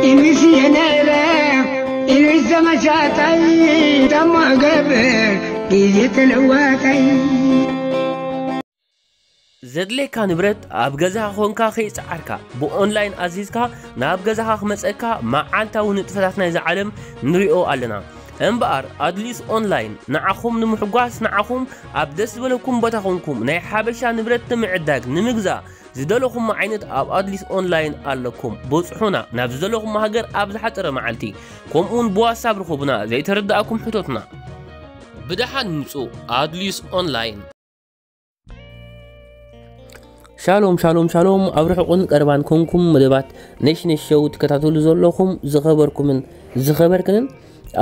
ኢሉስ የነረ ኢሉስ ተመሳሳይ ደሞ ገብር ግዜ ተለዋጣይ። ዘድልየካ ንብረት ኣብ ገዛኻ ኾንካ ከይጸዓርካ ብኦንላይን ኣዚዝካ ናብ ገዛኻ ክመጸካ መዓልታዊ ንጥፈታት ናይዛ ዓለም ንሪኦ ኣለና። እምበኣር ኣድሊስ ኦንላይን ንዓኹም ንምሕጓስ ንዓኹም ኣብ ደስ ዝበለኩም ቦታ ኾንኩም ናይ ሓበሻ ንብረት ንምዕዳግ ንምግዛእ ዝደለኹም ዓይነት ኣብ ኣድሊስ ኦንላይን ኣለኩም። በጽሑና ናብ ዝደለኹም ሃገር ኣብ ዝሓጸረ መዓልቲ ከምኡውን ብዋትሳፕ ርኹብና ዘይተረዳእኩም ሕቶትና። ብደሓን ምጹ ኣድሊስ ኦንላይን። ሻሎም ሻሎም ሻሎም ኣብ ርሑቕን ቀረባን ኮንኩም መደባት ነሽነሽ ሸው ትከታተሉ ዘለኹም ዝኸበርኩምን ዝኸበርክንን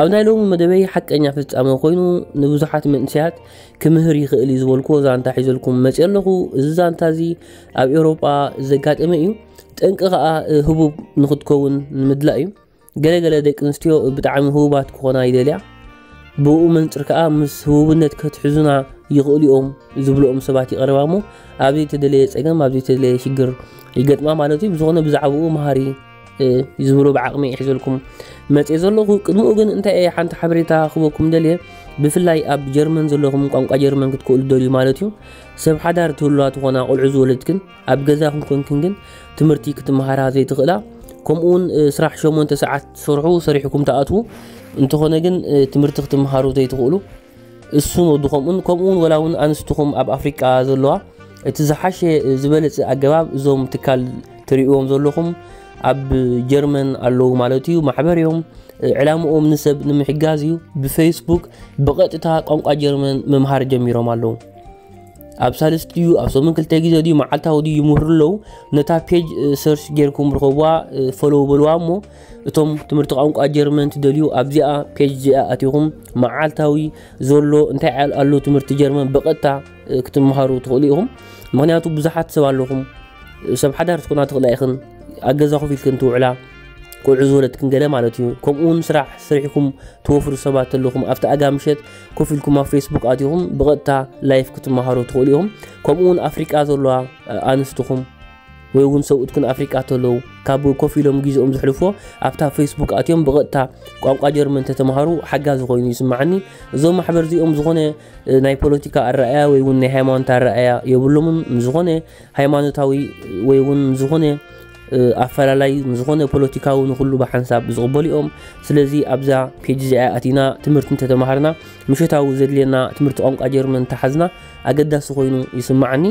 ኣብ ናይ ሎሚ መደበይ ሓቀኛ ፍጻመ ኮይኑ ንብዙሓት መንእሰያት ክምህር ይኽእል እዩ ዝበልኩዎ ዛንታ ሒዘልኩም መፅእ ኣለኹ። እዚ ዛንታ እዚ ኣብ ኤውሮጳ ዘጋጠመ እዩ። ጠንቂ ከዓ ህቡብ ንክትከውን ንምድላእ እዩ። ገለገለ ደቂ ኣንስትዮ ብጣዕሚ ህቡባት ክኾና ይደልያ። ብኡ መንፅር ከዓ ምስ ህቡብነት ከትሕዙና ይኽእሉ እዮም ዝብልኦም ሰባት ይቐርባ እሞ ኣብ ዘይተደለየ ፀገም ኣብ ዘይተደለየ ሽግር ይገጥማ ማለት እዩ። ብዝኾነ ብዛዕባኡ መሃሪ ዝብሎ ብዓቕሚ ይሕዘልኩም መፅእ ዘለኹ። ቅድምኡ ግን እንታይ እየ ሓንቲ ሓበሬታ ክበኩም ደልየ። ብፍላይ ኣብ ጀርመን ዘለኹም ቋንቋ ጀርመን ክትክእሉ ደልዩ ማለት እዩ። ሰብ ሓዳር ትህልዋ ትኾና ቆልዑ ዝወለድክን ኣብ ገዛኹም ኮንክን ግን ትምህርቲ ክትመሃራ ዘይትኽእላ ከምኡውን ስራሕ ሸሞንተ ሰዓት ትሰርሑ ሰሪሕኩም ትኣትዉ እንተኾነ ግን ትምህርቲ ክትመሃሩ ዘይትኽእሉ እሱን ወድኹምን ከምኡውን ወላ እውን ኣንስትኹም ኣብ ኣፍሪቃ ዘለዋ እቲ ዝሓሸ ዝበለፀ ኣገባብ እዞም ትካል ትርእዎም ዘለኹም ኣብ ጀርመን ኣለዉ ማለት እዩ። ማሕበር እዮም። ዕላምኦም ንሰብ ንምሕጋዝ እዩ። ብፌስቡክ ብቐጥታ ቋንቋ ጀርመን ምምሃር ጀሚሮም ኣለዉ። ኣብ ሳልስቲ ድዩ ኣብ ሰሙን ክልተ ግዜ ድዩ መዓልታዊ ድዩ ይምህሩ ኣለዉ። ነታ ፔጅ ሰርች ጌርኩም ርኸብዋ፣ ፎሎው በልዋ እሞ እቶም ትምህርቲ ቋንቋ ጀርመን ትደልዩ ኣብዚኣ ፔጅ እዚኣ ኣቲኹም መዓልታዊ ዘሎ እንታይ ኣሎ ትምህርቲ ጀርመን ብቐጥታ ክትምሃሩ ትኽእሉ ኢኹም። ምክንያቱ ብዙሓት ሰብ ኣለኹም ሰብ ሓዳር ትኮና ትኽእላ ኢኽን ኣብ ገዛ ኮፍ ኢልክን ትውዕላ ቆልዑ ዝወለድክን ገለ ማለት እዩ። ከምኡ እውን ስራሕ ስሪሕኩም ትወፍሩ ሰባት ኣለኹም ኣብቲ ኣጋ ምሸት ኮፍ ኢልኩም ኣብ ፌስቡክ ኣቲኹም ብቐጥታ ላይፍ ክትመሃሩ ትኽእሉ ኢኹም። ከምኡ እውን ኣፍሪቃ ዘለዋ ኣንስትኹም ወይ እውን ሰብኡትክን ኣፍሪቃ ተለዉ ካብ ኮፍ ኢሎም ግዜኦም ዝሕልፎ ኣብታ ፌስቡክ ኣትዮም ብቐጥታ ቋንቋ ጀርመን ተተምሃሩ ሓጋዚ ኮይኑ ይስማዓኒ። እዞም ማሕበር እዚኦም ዝኾነ ናይ ፖለቲካ ኣረኣያ ወይ እውን ናይ ሃይማኖት ኣረኣያ የብሎምን። ንዝኾነ ሃይማኖታዊ ወይ እውን ዝኾነ ኣፈላላይ ዝኾነ ፖለቲካዊ ንኩሉ ብሓንሳብ ዝቕበሉ እዮም። ስለዚ ኣብዛ ፔጅ እዚኣ ኣቲና ትምህርቲ እንተተማሃርና ምሸታዊ ዘድልየና ትምህርቲ ቋንቋ ጀርመን እንተሓዝና ኣገዳሲ ኮይኑ ይስማዓኒ።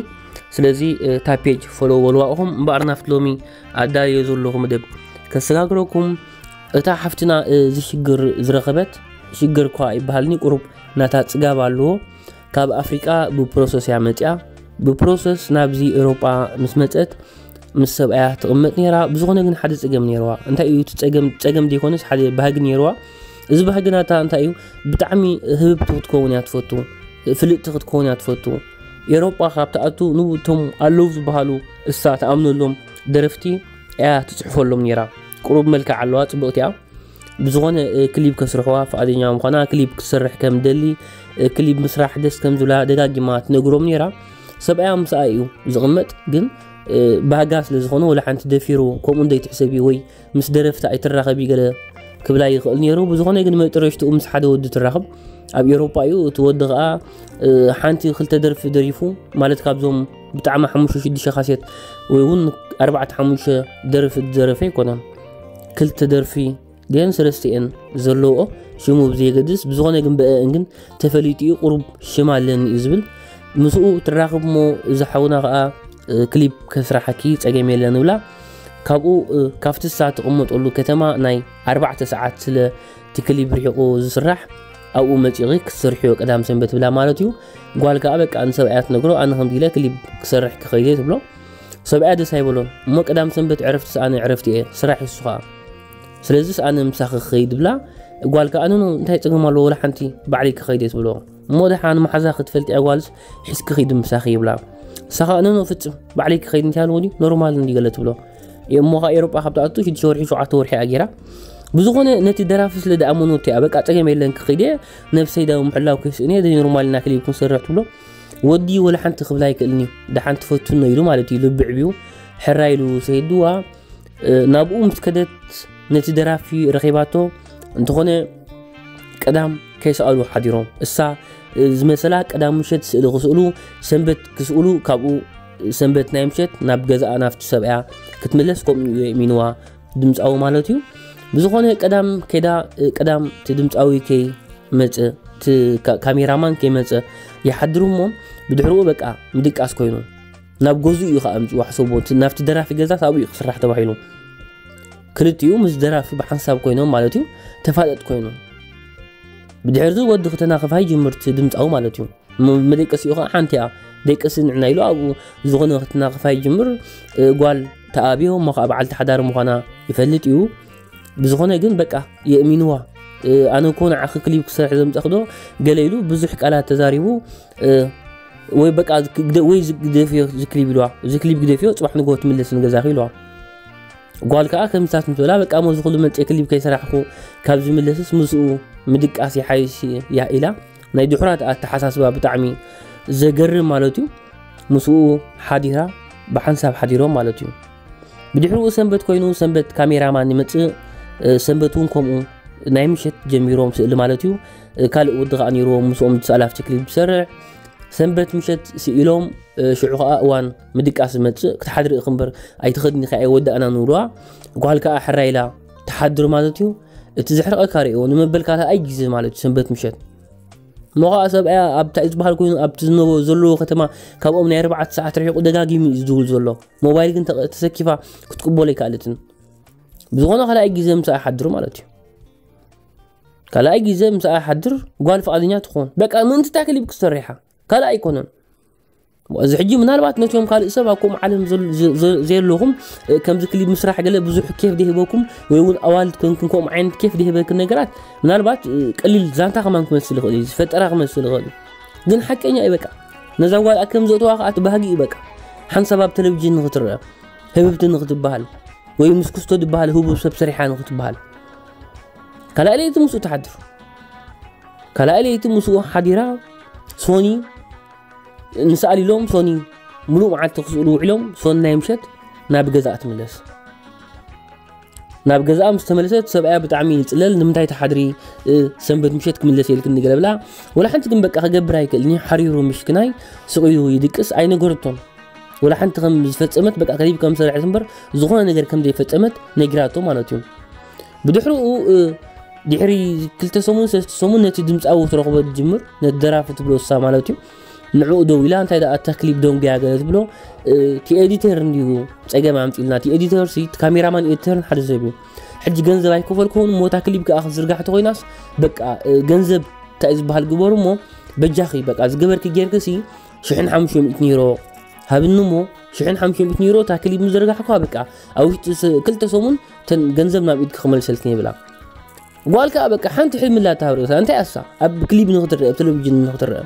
ስለዚ እታ ፔጅ ፎሎው በልዋ ኢኹም። እምበኣር ናብቲ ሎሚ ኣዳልዮ ዘለኹ መደብ ከሰጋግረኩም። እታ ሓፍትና እዚ ሽግር ዝረኸበት ሽግር እኳ ይበሃልኒ ቁሩብ ናታ ጽጋብ ኣለዎ። ካብ ኣፍሪቃ ብፕሮሰስ እያ መጽያ። ብፕሮሰስ ናብዚ ኤውሮጳ ምስ መጸት ምስ ሰብኣያ ትቕመጥ ነይራ። ብዝኾነ ግን ሓደ ጸገም ነይርዋ። እንታይ እዩ እቲ ጸገም? ጸገም ዘይኮነስ ሓደ ባህጊ ነይርዋ። እዚ ባህጊ ናታ እንታይ እዩ? ብጣዕሚ ህብብቲ ክትከውን እያ ትፈቱ፣ ፍልጥቲ ክትከውን እያ ትፈቱ። ኤውሮጳ ካብ ትኣቱ ንብቶም ኣለዉ ዝበሃሉ እሳ ትኣምነሎም ደረፍቲ እያ ትጽሕፈሎም ነይራ። ቁሩብ መልክዕ ኣለዋ፣ ጽብቕቲ እያ። ብዝኾነ ክሊፕ ከስርሕዋ ፍቓደኛ ምዃና ክሊፕ ክትሰርሕ ከም ደሊ ክሊፕ ምስራሕ ደስ ከም ዝብላ ደጋጊማ ትነግሮም ነይራ። ሰብኣያ ምስኣ እዩ ዝቕመጥ ግን ባህጋ ስለ ዝኾነ ወላ ሓንቲ ደፊሩ ከምኡ እንደይትሕሰቢ ወይ ምስ ደረፍቲ ኣይትራኸቢ ገለ ክብላ ይኽእል ነይሩ። ብዝኾነ ግን መጥረሽትኡ ምስ ሓደ ወዲ ትራኸብ ኣብ ኤውሮጳ እዩ። እቲ ወዲ ኸዓ ሓንቲ ክልተ ደርፊ ደሪፉ ማለት ካብዞም ብጣዕሚ ሓሙሽተ ሽዱሽተ ካሴት ወይ እውን ኣርባዕተ ሓሙሽተ ደርፊ ዝደረፈ ኣይኮነን። ክልተ ደርፊ ድየን ሰለስተ እየን ዘለውኦ ሽሙ ብዘየገድስ ብዝኾነ ግን ብአእን ግን ተፈሊጡ እዩ። ቁሩብ ሽም ኣለኒ እዩ ዝብል ምስኡ ትራኽብ እሞ እዚ ሓውና ከዓ ክሊፕ ከስራሓኪ ጸገም የለን ብላ። ካብኡ ካብቲ እሳ ትቕመጠሉ ከተማ ናይ ኣርባዕተ ሰዓት ስለ እቲ ክሊፕ ርሒቑ ዝስራሕ ኣብኡ መጺኺ ክትሰርሕዮ ቀዳም ሰንበት ብላ ማለት እዩ። ጓል ከዓ በቃ ንሰብኣያ ትነግሮ ኣነ ከምዚ ኢለ ክሊፕ ክሰርሕ ክኸይደ ትብሎ። ሰብኣያ ደስ ኣይበሎን እሞ ቀዳም ሰንበት ዕረፍቲ ሰኣነ ዕረፍቲ እየ ስራሕ እሱ ከዓ ስለዚስ ኣነ ምሳኺ ክኸይድ ብላ። ጓል ከዓ ኣነኖ እንታይ ጸገም ኣለዎ ወላ ሓንቲ ባዕለይ ክኸይድ እየ ትብሎ። እሞ ደሓን መሓዛ ክትፈልጢ እያ ጓልስ ሒዝኪ ኺዲ ምሳኺ ይብላ። እሳ ከዓ ኣነኖ ፍጽም ባዕለይ ክኸይድ እንታይ ኣለዎ ድዩ ኖርማል እንዲ ገለ ትብሎ። እሞ ከዓ ኤሮጳ ካብ ትኣቱ ሽዱሽተ ወርሒ ሸውዓተ ወርሒ እያ ገይራ። ብዝኾነ ነቲ ደራፊ ስለ ደኣመኖ እቲኣ በቃ ጸገም የለን ክኸይድ እየ ነብሰይ ዳዊ ምሕላው ከይስእን እየ ኖርማል ኢና ክሊብ ክንሰርሕ ትብሎ። ወዲ ወላ ሓንቲ ክብላ ኣይክእልን እዩ ደሓን ትፈቱኖ ኢሉ ማለት እዩ ልቢ ዕብዩ ሕራ ኢሉ ሰይድዋ ናብኡ ምስ ከደት ነቲ ደራፊ ረኺባቶ። እንተኾነ ቀዳም ከይሰኣሉ ሓዲሮም። እሳ ዝመሰላ ቀዳም ምሸት ስእሊ ክስእሉ፣ ሰንበት ክስእሉ፣ ካብኡ ሰንበት ናይ ምሸት ናብ ገዛኣ ናብቲ ሰብኣያ ክትምለስ ከምኡ እዩ የእሚንዋ፣ ድምፃዊ ማለት እዩ። ብዝኾነ ቀዳም ከይዳ፣ ቀዳም እቲ ድምፃዊ ከይመፀ፣ እቲ ካ- ካሜራማን ከይመፀ ይሓድሩ እሞ፣ ብድሕርኡ በቃ ምድቃስ ኮይኑ ናብ ገዝኡ እዩ ከዓ ኣምፅዋ። ሕሰቦ፣ እቲ ናብቲ ደራፊ ገዛ ኣብኡ እዩ ክስራሕ ተባሂሉ። ክልቲኡ ምስ ደራፊ ብሓንሳብ ኮይኖም ማለት እዩ፣ ተፋጠጥ ኮይኑ። ብድሕርዚ ወዲ ክተናኽፋ ይጅምር እቲ ድምፃዊ ማለት እዩ። ም- መደቀሲኡ ከዓ ሓንቲ እያ። ደቀሲ ንዕና ኢሉ ኣብኡ ዝኾነ ክተናኽፋ ይጅምር። እ፣ ጓል ተኣብዮ እሞ ከዓ በዓልቲ ሓዳር ምዃና ይፈልጥ እዩ። ብዝኾነ ግን በቃ የእሚንዋ። እ፣ ኣነ እኮ ንዓኺ ክሊፕ ክሰርሕ ዘምፀኽዶ ገለ ኢሉ ብዙሕ ቃላት ተዛሪቡ። እ፣ ወይ በቃ ግደ- ወይ ግደፍዮ እዚ ክሊፕ ኢልዋ። እዚ ክሊፕ ግደፍዮ፣ ፅባሕ ንጎ ትምለስ ንገዛኺ ኢልዋ። ጓል ከዓ ከምታት ምስ በላ፣ በቃ፣ ሞዚ ኩሉ መፅእ ክሊፕ ከይሰራሕኩ ካብ ዝምለስስ ምስኡ ምድቃስ ይሓይሽ እያ ኢላ። ናይ ድሑራት ኣተሓሳስባ ብጣዕሚ ዘገርም ማለት እዩ። ምስኡ ሓዲራ፣ ብሓንሳብ ሓዲሮም ማለት እዩ። ብድሕሪኡ ሰንበት ኮይኑ፣ ሰንበት ካሜራማን ይመፅእ። እ፣ ሰንበት እውን ከምኡ ናይ ምሸት ጀሚሮም ስእሊ ማለት እዩ። እ፣ ካልእ ወዲ ከዓ ነይርዎም ምስኦም ዝሰኣላ ኣብቲ ክሊፕ ዝሰርሕ። ሰንበት ምሸት ስኢሎም፣ እ፣ ሽዑ ከዓ እዋን ምድቃስ ዝመፅእ ክትሓድሪ ኢኺ እምበር ኣይትኸድኒ ከኣ ኣይወዳእና ንብልዋ። ጓል ከዓ ሕራይ ኢላ ትሓድር ማለት እዩ። እቲ ዘሕርቐካ ርእይዎ ንመበልካታ ኣይ ግዜ ማለት እዩ ሰንበት ምሸት። እሞ ከዓ ሰብኣያ ኣብታ እዩ ዝበሃል ኮይኑ ኣብቲ ዝነበ ዘለዎ ከተማ ካብኦም ናይ ኣርባዕተ ሰዓት ርሒቑ ደጋጊሙ እዩ ዝድውል ዘሎ። ሞባይል ግን ተቐ- ተሰኪፋ ክትቅበሎ ኣይከኣለትን። ብዝኾነ ካልኣይ ግዜ ምሳኣ ይሓድር ማለት እዩ። ካልኣይ ግዜ ምሳኣ ይሓድር፣ ጓል ፍቓደኛ ትኾን። በቃ ምእንቲ እታ ክሊፕ ክትሰርሓ ካልኣይ ኣይኮነን። እዚ ሕጂ ምናልባት ነቲኦም ካልእ ሰብ ኣብ ከምኡ ዓለም ዘል- ዘ- ዘ- ዘየለኹም፣ እ፣ ከምዚ ክሊፕ ምስራሕ ገለ ብዙሕ ኬፍ ደይህበኩም ወይ እውን ኣዋልድ ኮንክን ከምኡ ዓይነት ኬፍ ደይህበክን ነገራት ምናልባት፣ እ፣ ቀሊል ዛንታ ከማን ክመስል ይኽእል እዩ፣ ዝፈጠራ ክመስል ይኽእል እዩ። ግን ሓቀኛ እዩ በቃ። ነዛ ጓል ከም ዘእተዋ ከዓ እቲ ባህጊ እዩ በቃ። ሓንሳብ ኣብ ቴሌቪዥን ንኽትረአ፣ ህብብቲ ንኽትበሃል ወይ ምስ ክስቶ ዝበሃል ህቡብ ሰብ ሰሪሓ ንኽትበሃል። ካልኣይ ለይቲ ምስኡ ትሓድር። ካልኣይ ለይቲ ምስኡ ሓዲራ ሶኒ ንስኣል ኢሎም ሶኒ ምሉእ መዓልቲ ክስእሉ ውዒሎም ሶኒ ናይ ምሸት ናብ ገዛኣ ትምለስ። ናብ ገዛኣ ምስ ተመለሰት ሰብኣያ ብጣዕሚ ይፅለል። "ንምንታይ ትሓድሪ? እ፣ ሰንበት ምሸት ክምለስ የልክኒ" ገለ ብላ። ወላ ሓንቲ ግን በቃ ክገብር ኣይክእልን እዩ። ሓሪሩ ምሽክናይ ስቕ ኢሉ ይድቅስ። ኣይነገረቶን። ወላ ሓንቲ ከም ዝፈጸመት በቃ ክሊፕ ከም ዝሰርሐት እምበር ዝኾነ ነገር ከም ዘይፈጸመት ነጊራቶ ማለት እዩ። ብድሕሪኡ፣ እ፣ ድሕሪ ክልተ ሰሙን ሰለስተ ሰሙን ነቲ ድምጻዊ ትረኽቦ ትጅምር፣ ነቲ ደራፊ ትብሎ እሳ ማለት እዩ። ንዕኡ ደው ኢላ እንታይ ደኣ እታ ክሊፕ ደንጉያ ገለ ትብሎ፣ እ፣ እቲ ኤዲተር እንድዩ ጸገም ኣምጺልና። እቲ ኤዲተር ሲ፣ እቲ ካሜራማን ኤዲተርን ሓደ ሰብ እዩ። ሕጂ ገንዘብ ኣይከፈልኩን እሞ እታ ክሊፕ ከኣ ክትዝርጋሕ ተኾይናስ በቃ፣ እ፣ ገንዘብ እንታይ ዝበሃል ግበሩ እሞ በጃኺ በቃ ዝገበርኪ ጌርኪ ሲ ሽሕን ሓሙሽተ ሚእትን ዩሮ ሃብኒ እሞ ሽሕን ሓሙሽተ ሚእትን ዩሮ እታ ክሊፕ ምስ ዘርጋሕኩዋ በቃ ኣብ ውሽጢ ስ-፣ ክልተ ሰሙን ተን ገንዘብ ናብ ኢድኪ ክመልሰልክን ይብላ። ጓል ከኣ በቃ ሓንቲ ሕልሚ ኣላታ ኣብ ርእሳ። እንታይ ኣሳ ኣብ ክሊፕ ንኽትረአ፣ ኣብ ቴሌቪዥን ንኽትረአ።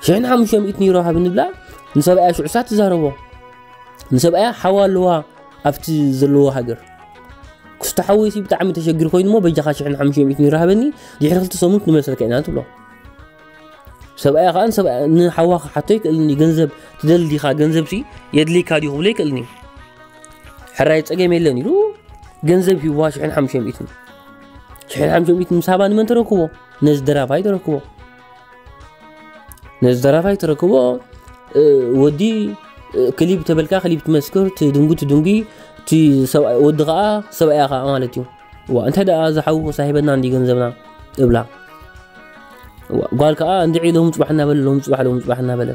ሽሕን ሓሙሽተ ሚእትን ዩሮ ሃብኒ ብላ ንሰብኣያ ሽዑሳ ትዛረቦ። ንሰብኣያ ሓዋ ኣለዋ ኣብቲ ዘለዎ ሃገር። ክስቶ ሓወይሲ ብጣዕሚ ተሸጊሩ ኮይኑ እሞ በጃኻ ሽሕን ሓሙሽተ ሚእትን ዩሮ ሃበኒ፣ ድሕሪ ክልተ ሰሙን ክንመልሰልካ ኢና ትብሎ። ሰብኣያ ከኣ ንሰብኣ-፣ ንሓዋ ክሓቶ ኣይክእልን እዩ። ገንዘብ ትደሊ ዲኻ? ገንዘብ ሲ የድልየካ ድዩ ክብሎ ኣይክእልን እዩ። ሕራይ ጸገም የለን ኢሉ ገንዘብ ሂብዋ ሽሕን ሓሙሽተ ሚእትን። ሽሕን ሓሙሽተ ሚእትን ምስ ሃባ ንመን ተረክቦ? ነዚ ደራፋይ ተረክቦ። ነዚ ደራፋይ ተረክቦ፣ እ፣ ወዲ፣ እ፣ ክሊፕ ተበልካ ክሊፕ ትመስክር፣ ትድንጉ ትድንጉ፣ እቲ ሰብኣይ፣ ወዲ ከኣ ሰብኣያ ከኣ ማለት እዩ። ዋ፣ እንታይ ደኣ ዝሓውኹ ሳሂበና እንዲ ገንዘብና እብላ። ዋ፣ ጓል ከኣ እንድዒ ሎም ጽባሕ እናበለ፣ ሎም ጽባሕ፣ ሎም ጽባሕ እናበለ።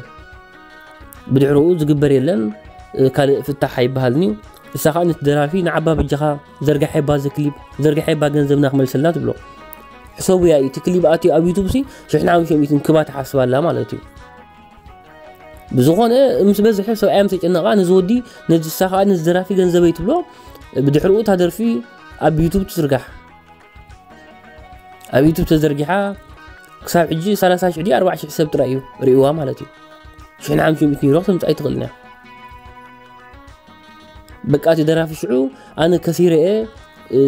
ብድሕሪኡ ዝግበር የለን፣ እ፣ ካልእ ፍታሕ ኣይበሃልን እዩ። እሳ ከኣ ነቲ ደራፊ ንዓባ በጃኻ ዘርጋሐባ እዚ ክሊፕ፣ ዘርጋሐባ ገንዘብና ክመልሰልና ትብሎ። ሕሰቡ ያ፣ እቲ ክሊፕ ኣትዩ ኣብ ዩቱብ ሲ ሽሕን ሓሙሽተ ሚእትን ክባ ትሓስብ ኣላ ማለት እዩ። ብዝኾነ ምስ በዝሐ ሰብኣያ ምስ ተጨነቓ ነዚ ወዲ፣ ነዚ እሳ ከኣ ነዚ ደራፊ ገንዘበይ ትብሎ። ብድሕሪኡ እታ ደርፊ ኣብ ዩቱብ ትዝርጋሕ። ኣብ ዩቱብ ተዘርጊሓ ክሳብ ሕጂ ሰላሳ ሽሕ ድዩ ኣርባዓ ሽሕ ሰብ ጥራይ እዩ ርእይዋ ማለት እዩ። ሽሕን ሓሙሽተ ሚእትን ዩሮ ክተምጽእ ኣይትኽእልን እያ። በቃ እቲ ደራፊ ሽዑ ኣነ ከሲረ እየ፣ እ፣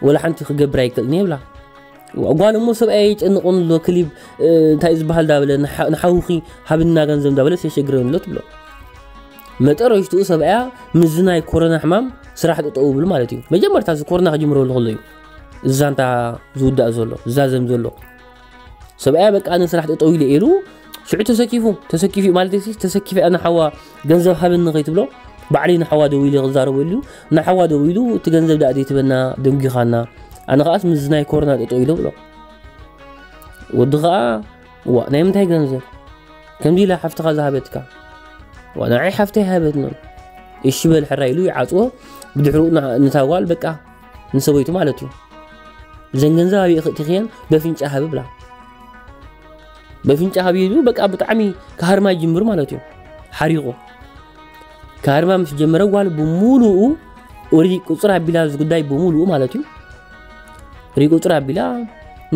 ወላ ሓንቲ ክገብር ኣይክእልን እየ ይብላ። ጓል እሞ ሰብኣይ የጨንቑን ኣሎ ክሊብ፣ እ፣ እንታይ እዩ ዝበሃል ዳበለ ንሓ-፣ ንሓውኺ ሃብና ገንዘብ ዳበለ የሸግረን ኣሎ ትብሎ። መጠረሽትኡ ሰብኣያ ምስዚ ናይ ኮሮና ሕማም ስራሕ ጠጠው ይብል ማለት እዩ። መጀመርታ እዚ ኮሮና ክጅምረሉ ከሎ እዩ እዛ እንታ ዝውዳእ ዘሎ ዝዛዘም ዘሎ። ሰብኣያ በቃ ኣነ ስራሕ ጠጠው ኢለ ኢሉ ሽዑ ተሰኪፉ ተሰኪፉ ማለት ሲ ተሰኪፈ ኣነ ሓዋ ገንዘብ ሃበኒ ከይትብሎ ባዕለይ ንሓዋ ደው ኢለ ክዛረበሉ እዩ። ንሓዋ ደው ኢሉ እቲ ገንዘብ ዳኣ ዘይትበና ደንጊኻና ኣነ ከዓስ ምስ ናይ ኮሮና ጠጠው ኢለ ብሎ። ወዲ ከዓ ዋ ናይ ምንታይ ገንዘብ ከምዚ ኢላ ሓፍትኻ ዝሃበትካ ዋ ንዓይ ሓፍተይ ሃበትኒ እሺ በል ሕራ ኢሉ ይዓፅዎ። ብድሕሩ ንታ ጓል በቃ ንሰበይቱ ማለት እዩ እዘን ገንዘብ ኣብየ ክእትኽየን በፍንጫ ሃብ ብላ። በፍንጫ ሃብ ይሉ በቃ ብጣዕሚ ክሃርማ ይጅምር ማለት እዩ። ሓሪቑ ክሃርማ ምስ ጀመረ ጓል ብሙሉኡ ሪቁፅር ኣቢላ እዚ ጉዳይ ብሙሉኡ ማለት እዩ። ሪቁፅር ኣቢላ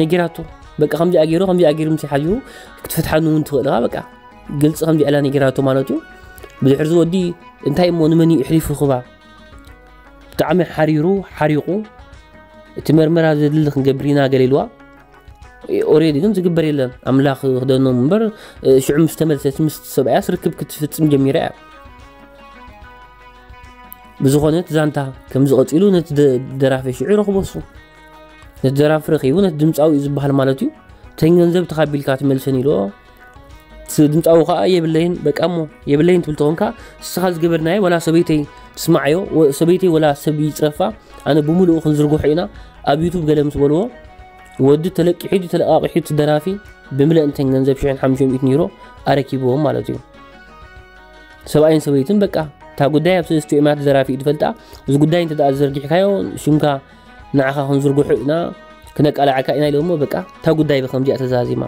ነጊራቶ። በቃ ከምዚኣ ገይሩ ከምዚኣ ገይሩ ምስ ሓዚሩ ክትፈትሓኒ እውን ትኽእል ኢኻ በቃ ግልፂ ከምዚኣ ኢላ ነጊራቶ ማለት እዩ። ብድሕሪ ዝወዲ እንታይ እሞ ንመን እዩ እሕሊፉ ክባ ብጣዕሚ ሓሪሩ ሓሪቑ እቲ መርመራ ዘድሊ ክንገብር ኢና ገለ ኢልዋ። ኦሬዲ ግን ዝግበር የለን ኣምላኽ ክደኖም እምበር ሽዑ ምስ ተመልሰት ምስ ሰብኣያ ስርክብ ክትፍፅም ጀሚራ እያ። ብዝኾነ እቲ ዛንታ ከም ዝቐፂሉ ነቲ ደራፊ ሽዑ ረኽቦ እሱ ነቲ ደራፊ ረኺቡ ነቲ ድምፃዊ እዩ ዝበሃል ማለት እዩ። ተን ገንዘብ ተኻቢልካ ትመልሰን ኢልዎ። ድምፃዊ ከዓ የብለይን በቃ እሞ የብለይን ትብል ተኾንካ እስኻ ዝገበርናዮ ወላ ሰበይተይ ትስማዓዮ ሰበይተይ ወላ ሰብ ይፅረፋ ኣነ ብምሉኡ ክንዝርግሖ ኢና ኣብ ዩቱብ ገለ ምስ በልዎ ወዲ ተለቂሑ ድዩ ተለቃቂሑ እቲ ደራፊ ብምልእንተን ገንዘብ ሽሕን ሓሙሽተ ሚእትን ዩሮ ኣረኪብዎም ማለት እዩ። ሰብኣይን ሰበይትን በቃ እታ ጉዳይ ኣብ ሰለስቲኦም እያ ተዘራፊ እዩ ትፈልጣ። እዚ ጉዳይ እንተ ደኣ ዘርጊሕካዮ ሽምካ ንዓኻ ክንዝርግሑ ኢና ክነቃላዕካ ኢና ኢሎሞ በቃ እታ ጉዳይ ብከምዚኣ ተዛዚማ።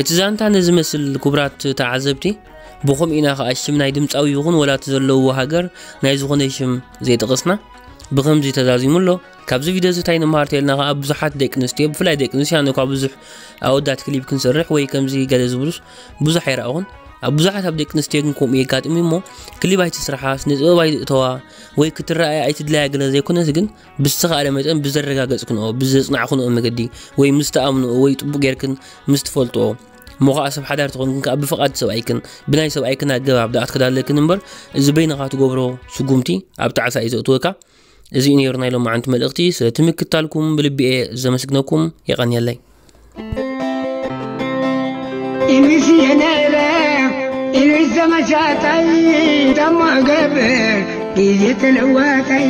እቲ ዛንታ ነዚ መስል ክቡራት ተዓዘብቲ ብኸምኡ ኢና ከዓ ሽም ናይ ድምፃዊ ይኹን ወላ እቲ ዘለውዎ ሃገር ናይ ዝኾነ ሽም ዘይጠቐስና ብኸምዚ ተዛዚሙ ኣሎ። ካብዚ ቪድዮ እዚ እንታይ ንመሃር ተልና ከዓ ብዙሓት ደቂ ኣንስትዮ ብፍላይ ደቂ ኣንስትዮ ኣነ እኳ ብዙሕ ኣወዳት ክሊፕ ክንሰርሕ ወይ ከምዚ ገለ ዝብሉስ ብዙሕ ኣይረኣኹን። ኣብ ብዙሓት ኣብ ደቂ ኣንስትዮ ግን ከምኡ የጋጥም እዩ እሞ ክሊፕ ኣይትስርሓ ስነ ጥበብ ኣይትእተዋ ወይ ክትረኣያ ኣይትድለያ ገለ ዘይኮነስ ግን ብዝተኻእለ መጠን ብዘረጋገፅክንኦ ብዘፅናዕክንኦ መገዲ ወይ ምስ ተኣምንኦ ወይ ጥቡቅ ጌርክን ምስ ትፈልጥኦ እሞ ከዓ ሰብ ሓዳር ተኾንክን ከዓ ብፍቓድ ሰብኣይክን ብናይ ሰብኣይክን ኣገባብ ደኣ ትክዳለክን እምበር እዚ በይንኻ ትገብሮ ስጉምቲ ኣብ ጣዕሳ እዩ ዘእትወካ። እዚ እዩ ነይሩ ናይ ሎማዓንቲ መልእኽቲ። ስለ ትምክታልኩም ብልቢ እየ ዘመስግነኩም። የቐንየለይ። ኢሉስ የነረ ኢሉስ ዘመሻታይ ደሞ ገብር ግዜ ተለዋታይ